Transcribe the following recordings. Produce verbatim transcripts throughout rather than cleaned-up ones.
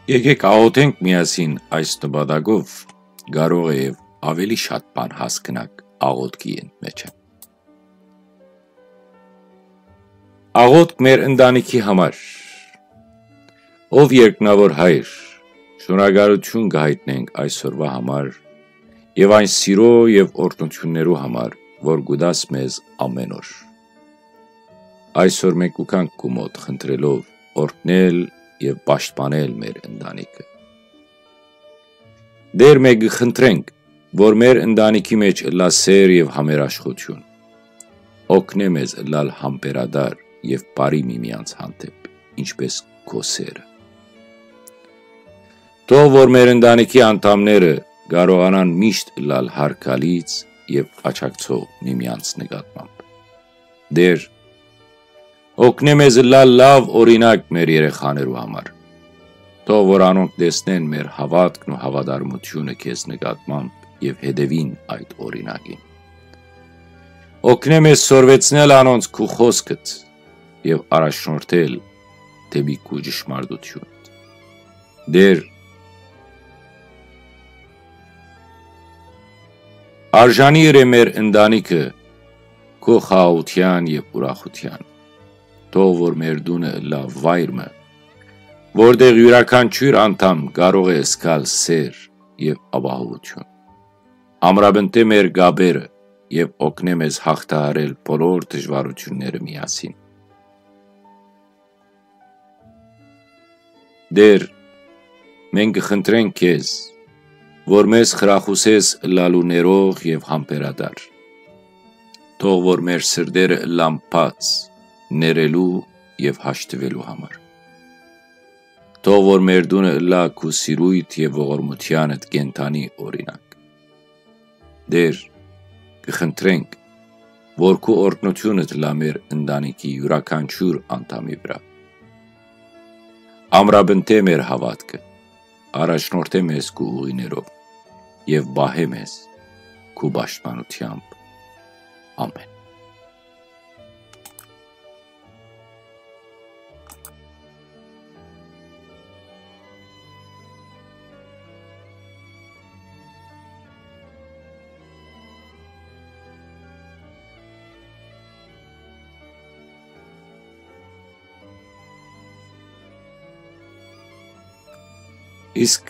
Եկեք աղոթենք միասին այս նպատակով, կարող է եւ ավելի շատ բան հասկնաք աղոթքի ընդմէջը։ Աղոթք մեր ընտանիքի համար։ Ով երկնաւոր Հայր, շնորհակալութիւն կը յայտնենք այսօրուայ համար եւ այն սիրոյ եւ օրհնութիւններու համար, որ կու տաս մեզ ամէն օր։ Այսօր մենք կու գանք քու մօտ խնդրելով օրհնել եւ պաշտպանել մեր ընտանիքը։ Տէր, մենք կը խնդրենք, որ մեր ընտանիքի մէջ ըլլայ սէր եւ համերաշխութիւն։ Օգնէ մեզ ըլլալ համբերատար եւ բարի միմյանց հանդէպ, ինչպէս քո սէրը։ Թող որ մեր ընտանիքի անդամները կարողանան միշտ ըլլալ յարգալից եւ աջակցող միմյանց նկատմամբ։ Տէր, օգնէ մեզ ըլլալ լաւ օրինակ մեր երեխաներու համար։ Թող որ անոնք տեսնեն մեր հաւատքն ու հաւատարմութիւնը քեզ նկատմամբ եւ հետեւին այդ օրինակին։ Օգնէ մեզ սորվեցնել անոնց քու խօսքդ եւ առաջնորդել դէպի քու ճշմարտութիւնդ։ Տէր, արժանի ըրէ մեր ընտանիքը քու խաղաղութեան եւ ուրախութեան։ Թող որ մեր տունը ըլլայ վայր մը, որտեղ իւրաքանչիւր անդամ կարող է զգալ սէր եւ ապահովութիւն։ Ամրապնդէ մեր կապերը եւ օգնէ մեզ յաղթահարել բոլոր դժուարութիւնները միասին։ Տէր, մենք կը խնդրենք քեզ, որ մեզ խրախուսես ըլլալու ներող եւ համբերատար։ Թող որ մեր սրտերը ըլլան բաց, ներելու եւ հաշտուելու համար։ Թող որ մեր տունը ըլլայ քու սիրոյդ եւ ողորմութեանդ կենդանի օրինակ։ Տէր, կը խնդրենք, որ քու օրհնութիւնդ ըլլայ մեր ընտանիքի իւրաքանչիւր անդամի վրայ։ Ամրապնդէ մեր հաւատքը, առաջնորդէ մեզ քու ուղիներով եւ պահէ մեզ քու պաշտպանութեամբ։ Ամէն։ Իսկ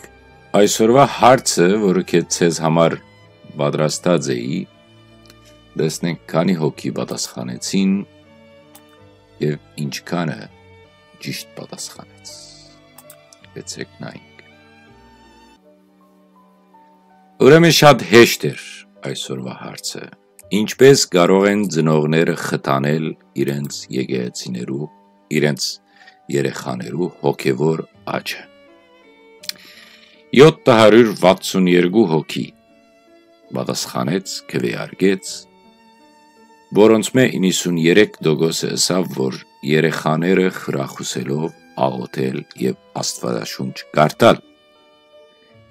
այսօրուայ հարցը, որը քեզ ձեզ համար պատրաստած էի, տեսնենք քանի հոգի պատասխանեցին եւ ինչքանը ճիշտ պատասխանեց։ Եկեցեք նայենք։ Ուրեմն շատ հեշտ էր այսօրվա հարցը։ Ինչպէս կարող են ծնողները խթանել իրենց եկեղեցիներու, իրենց երեխաներու հոգեվոր աճը։ Յոթ հարիւր վաթսուն երկու հոգի պատասխանեց, քուէարկեց, որոնցմէ իննսուն երեք տոկոսը ըսաւ, որ երեխաները խրախուսելով աղոթել եւ Աստուածաշունչ կարդալ։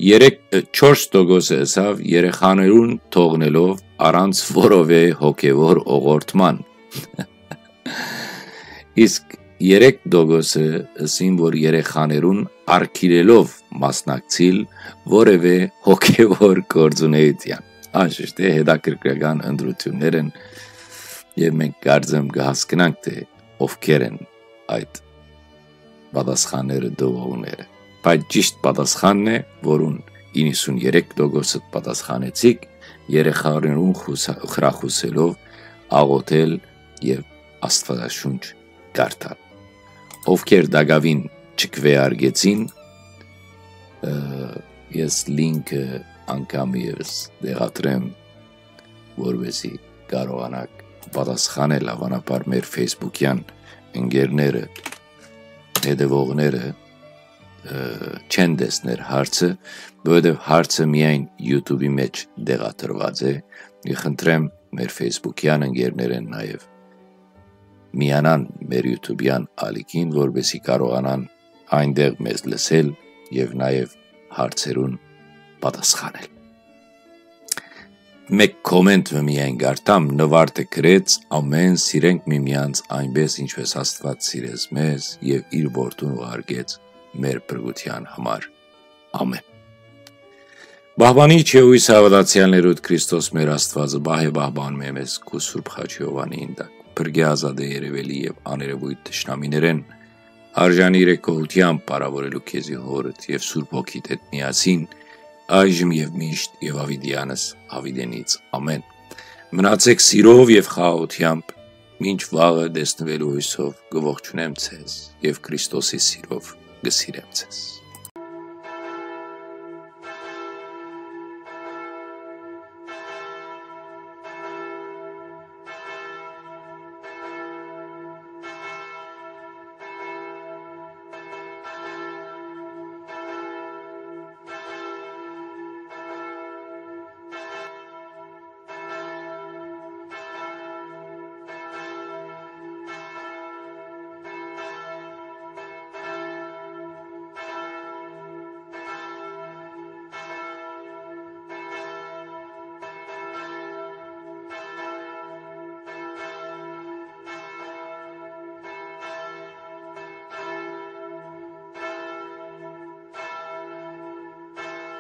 Երեք, չորս տոկոսը ըսաւ երեխաներուն թողնելով առանց որովէ հոգեվոր օղորդման։ Իսկ երեք տոկոսը ըսին, որ երեխաներուն արգիլելով մասնակցիլ որևէ հոգեվոր գործունեության։ Անշուշտ է, հետաքրքրական ընտրություններ են, եւ մենք կարծեմ կհասկնանք, թե ովքեր են այդ պատասխանները տուողները։ Բայց ճիշտ պատասխանն է, որուն իննսուն երեք տոկոսը պատասխանեցիք, երեխաներուն խուսա-, խրախուսելով աղոթել եւ Աստուածաշունչ կարդալ։ Ովքեր տակաւին չքվեարկեցին, ը, ես link-ը անգամ եւս տեղադրեմ, որպեսզի կարողանաք պատասխանել, հավանաբար մեր Facebook-յան ընկերները, հետևողները, ը, չեն տեսներ հարցը, որովհետեւ հարցը միայն YouTube-ի մեջ տեղադրված է։ Կը խնդրեմ մեր Facebook-յան ընկերներէն նաեւ միանան մեր YouTube-յան ալիքին, որպեսզի կարողանան այնտեղ մեզ լսել եւ նաեւ հարցերուն պատասխանել։ Մէկ կոմենտ մը միայն կարդամ, Նվարդը գրեց. «Ամեն սիրենք միմյանց այնպես, ինչպես Աստված սիրեց մեզ եւ իր որդուն ուղարկեց մեր փրկութեան համար։ Ամէն։ Պահպանիչ եւ յոյս հաւատացեալներուդ Քրիստոս մեր Աստուածը պահ է պահպան մե մեզ քու Սուրբ Խաչի Յովանին տակ, փրկի ազատե երևելի եւ աներևույթ թշնամիներէն, արժանի իրեկողութեամբ պարավորելու քեզի Հօրդ եւ Սուրբ Հոգիդ հետ միասին, այժմ եւ միշտ եւ յաւիտեանս յաւիտենից։ Ամէն։ Մնացեք սիրով եւ խաղաղութեամբ, մինչ վաղը տեսնուելու յոյսով կը ողջունեմ ձեզ եւ Քրիստոսի սիրով կը սիրեմ ձեզ։